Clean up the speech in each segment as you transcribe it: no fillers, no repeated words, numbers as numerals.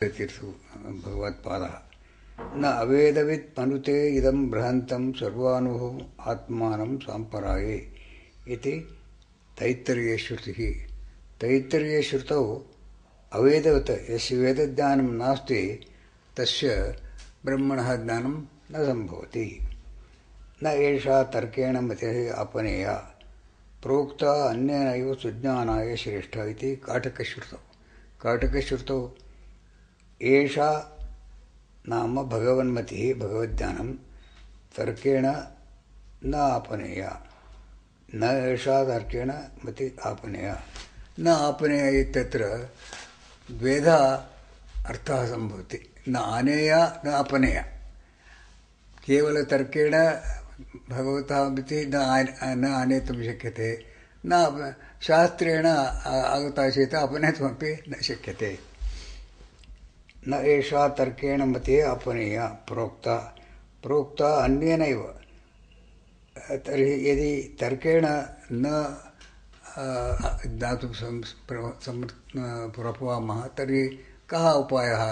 तीर्थो भगवत्पादः न अवेदवित् मनुते इदं बृहन्तं सर्वानुभवम् आत्मानं साम्पराये इति तैत्तरीयश्रुतिः। तैत्तरीयश्रुतौ अवेदवत् यस्य वेदज्ञानं नास्ति तस्य ब्रह्मणः ज्ञानं न सम्भवति। न एषा तर्केण मतिः आपनेया प्रोक्ता अन्येनैव सुज्ञानाय श्रेष्ठा इति काटकश्रुतौ। काटकश्रुतौ एषा नाम भगवन्मतिः भगवज्ञानं तर्केण न आपनेया। न एषा तर्केण मति आपनेया न आपनेया इत्यत्र द्वेधा अर्थः सम्भवति। न आनेया न आपनेया। केवलतर्केण भगवतः मतिः न आनेतुं शक्यते, न शास्त्रेण आगता चेत् अपनेतुमपि न शक्यते। न एषा तर्केण मतिः आपनेया प्रोक्ता अन्येनैव। तर्हि यदि तर्केण न ज्ञातुं प्रभवामः तर्हि कः उपायः?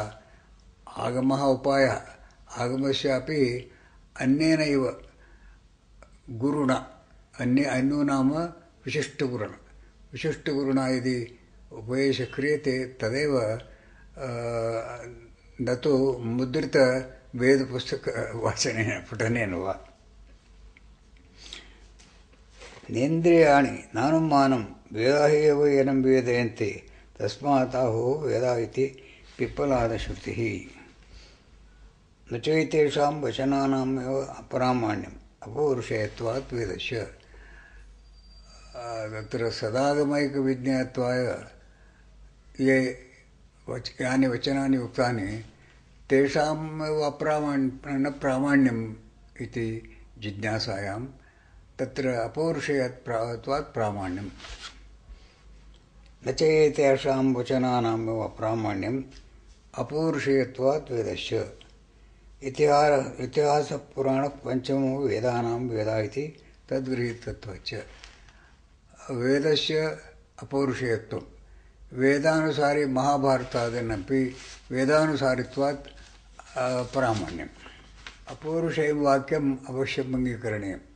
आगमः उपायः। आगमस्यापि अन्येनैव गुरुणा। अन्यो नाम विशिष्टगुरुणा। विशिष्टगुरुणा यदि उपदेशः क्रियते तदेव न तु मुद्रितवेदपुस्तकवाचनेन पठनेन वा। नेन्द्रियाणि नानुमानं वेदाः एव एनं वेदयन्ति तस्मात् आहुः वेदा इति पिप्पलादश्रुतिः। न चैतेषां वचनानामेव अप्रामाण्यम् अपौरुषेयत्वात् वेदस्य। तत्र सदागमैकविज्ञेयत्वाय यानि वचनानि उक्तानि तेषामेव न प्रामाण्यम् इति जिज्ञासायां तत्र अपौरुषेयत्वात् प्रामाण्यम्। न चैतेषां वचनानामेव अप्रामाण्यम् अपौरुषेयत्वात् वेदस्य। इतिहासपुराणपञ्चमो वेदानां वेदा इति तद्गृहीतत्वाच्च। वेदस्य अपौरुषेयत्वं वेदानुसारी महाभारतादीनपि वेदानुसारित्वात् प्रामाण्यम्। अपौरुषेयं वाक्यम् अवश्यम् अङ्गीकरणीयम्।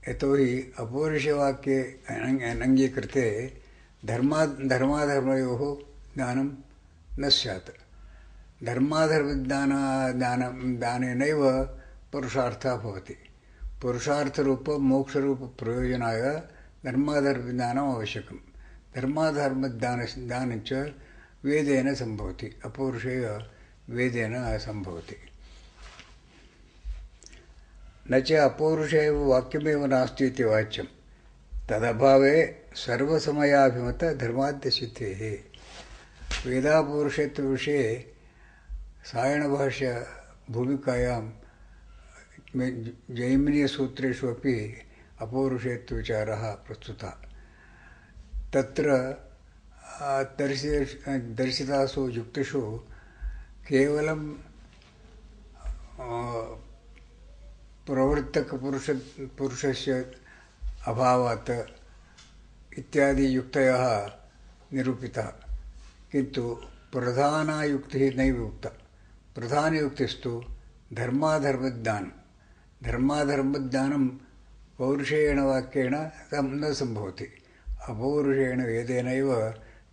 यतोहि अपौरुषवाक्ये अनङ्गीकृते धर्माधर्मयोः ज्ञानं न स्यात्। धर्माधर्मज्ञानेनैव पुरुषार्थः भवति। पुरुषार्थरूपमोक्षरूपप्रयोजनाय धर्माधर्मज्ञानम् आवश्यकम्। धर्माधर्मज्ञानञ्च वेदेन सम्भवति। अपौरुषेय वेदेन सम्भवति। न च अपौरुषेय वाक्यमेव नास्ति इति वाच्यं तदभावे सर्वसमयाभिमतधर्माद्यसिद्धेः। वेदापौरुषेयत्वविषये सायणभाष्यभूमिकायां जैमिनीयसूत्रेषु अपि अपौरुषेयत्वविचारः प्रस्तुतः। तत्र दर्शितासु युक्तिषु केवलं प्रवर्तकपुरुषस्य अभावात् इत्यादि युक्तयः निरूपिताः, किन्तु प्रधाना युक्तिः नैव उक्ता। प्रधानयुक्तिस्तु धर्माधर्मज्ञानं। धर्माधर्मज्ञानं पौरुषेयेण वाक्येन न सम्भवति। अपौरुषेयेण वेदेनैव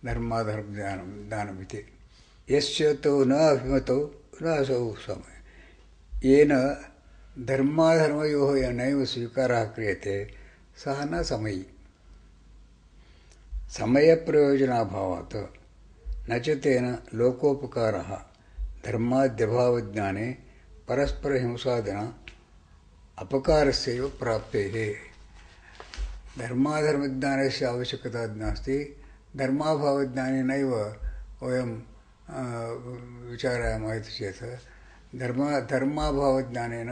धर्माधर्मज्ञानमिति। यस्य तौ न अभिमतौ न असौ समः। येन धर्माधर्मयोः नैव स्वीकारः क्रियते सः न समयी। समयप्रयोजनाभावात् न च तेन लोकोपकारः धर्माद्यभावज्ञाने परस्परहिंसादिना अपकारस्यैव प्राप्तेः। धर्माधर्मज्ञानस्य आवश्यकता नास्ति। धर्माभावज्ञानेनैव वयं विचारयामः इति चेत् धर्माभावज्ञानेन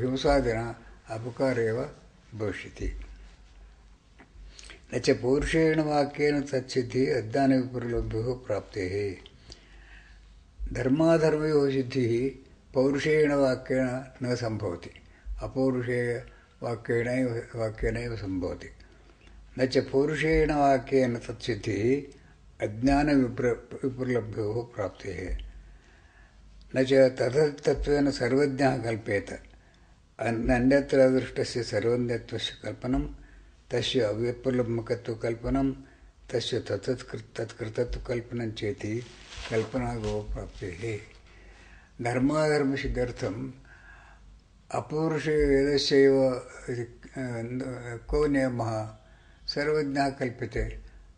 हिंसादिना अपकार एव भविष्यति। न च पौरुषेयेण वाक्येन तत्सिद्धिः अज्ञानविपरिलभ्योः प्राप्तेः। धर्माधर्मयोः सिद्धिः पौरुषेयेण वाक्येन न सम्भवति। अपौरुषेयवाक्येनैव सम्भवति। न च पौरुषेयेण वाक्येन तत्सिद्धिः अज्ञानविप्रलभ्योः प्राप्तेः न च तथतत्त्वेन सर्वज्ञः कल्पेत अन्यत्र दृष्टस्य सर्वज्ञत्वस्य कल्पनं तस्य अव्यप्रलम्बकत्वकल्पनं तस्य तत्कृतत्वकल्पनं चेति कल्पनागो प्राप्तेः धर्माधर्मसिद्ध्यर्थम् अपौरुषे वेदस्यैव को नियमः सर्वज्ञः कल्प्यते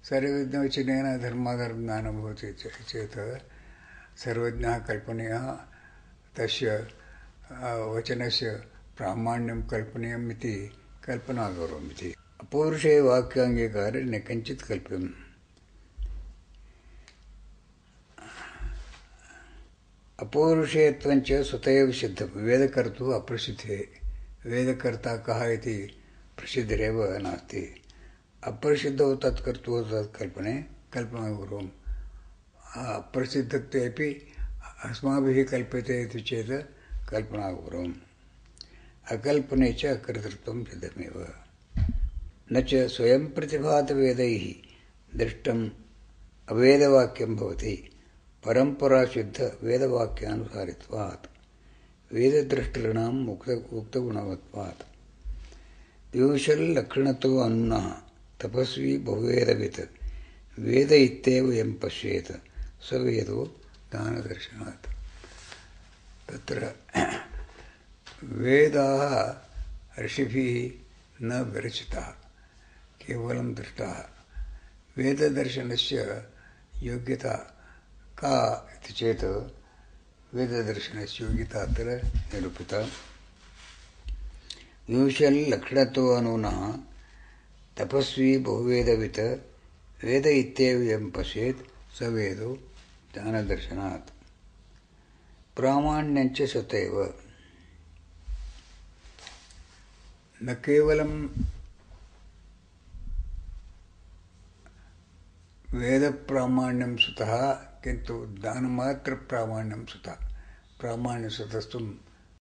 सर्वज्ञवचनेन धर्माधर्मज्ञानं भवति चेत् सर्वज्ञः कल्पनीयः तस्य वचनस्य प्रामाण्यं कल्पनीयम् इति कल्पना करोमि अपौरुषे वाक्याङ्गीकारे न किञ्चित् कल्प्यम् अपौरुषेयत्वञ्च स्वतः एव सिद्धं वेदकर्तुः अप्रसिद्धे वेदकर्ता कः इति प्रसिद्धिरेव नास्ति अप्रसिद्धौ तत्कर्तुः तत्कल्पने कल्पना कुर्वम् अप्रसिद्धत्वेपि अस्माभिः कल्प्यते इति चेत् कल्पना कुर्वम् अकल्पने च अकर्तृत्वं सिद्धमेव न च स्वयं प्रतिभातवेदैः दृष्टम् अवेदवाक्यं भवति परम्पराशुद्धवेदवाक्यानुसारित्वात् वेदद्रष्टॄणाम् उक्तगुणवत्वात् विवशल्लक्षणतो अनुनः तपस्वी बहुवेदवित् वेद इत्येव यं पश्येत् स वेदो ज्ञानदर्शनात् तत्र वेदाः ऋषिभिः न विरचिताः केवलं दृष्टाः वेददर्शनस्य योग्यता का इति चेत् वेददर्शनस्य योग्यता अत्र निरूपिता विवशल्लक्षणतो अनुनः तपस्वी बहुवेदवित् वेद इत्येव यं पश्येत् स वेदो ज्ञानदर्शनात् प्रामाण्यञ्च स्वतः न केवलं वेदप्रामाण्यं सुतः किन्तु ज्ञानमात्रप्रामाण्यं सुतः प्रामाण्यसुतस्त्वं